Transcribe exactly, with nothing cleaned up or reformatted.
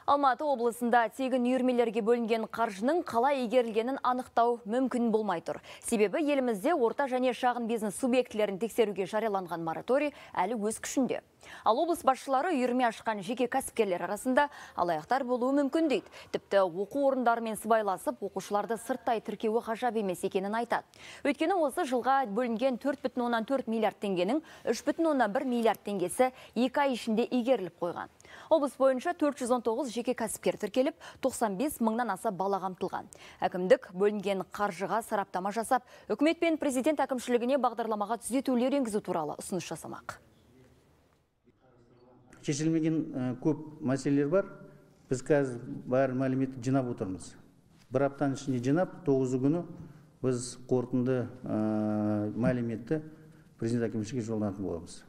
Алматы облысында тегін үйірмелерге бөлінген қаржының қалай игерілгенін анықтау мүмкін болмай тұр. Себебі елімізде орта және шағын бизнес субъектілерін тексеруге жарияланған мораторий әлі өз күшінде. Ал облыс басшылары үйірме ашқан жеке кәсіпкерлер арасында алаяқтар болуы мүмкін дейді. Тіпті оқу орындарымен сыбайласып, оқушыларды сырттай тіркеуі ғажап емес екенін айтады. Өйткені осы жылға бөлінген төрт бүтін оннан төрт миллиард теңгенің үш бүтін оннан бір миллиард теңгесі екі ай ішінде игеріліп қойған. Облыс бойынша төрт жүз он тоғыз жеке кәсіпкер тіркеліп, тоқсан бес мыңнан аса бала қамтылған. Әкімдік бөлінген қаржыға сараптама жасап, үкімет пен президент әкімшілігіне бағдарламаға түзетулер енгізу туралы ұсыныс жасамақ. Шешілмеген көп мәселелер бар. Біз қазір бар мәліметті жинап отырмыз. Бір аптаның ішінде жинап, тоғызы күні біз қорытынды мәліметті президент әкімшілігіне жолданатын боламыз.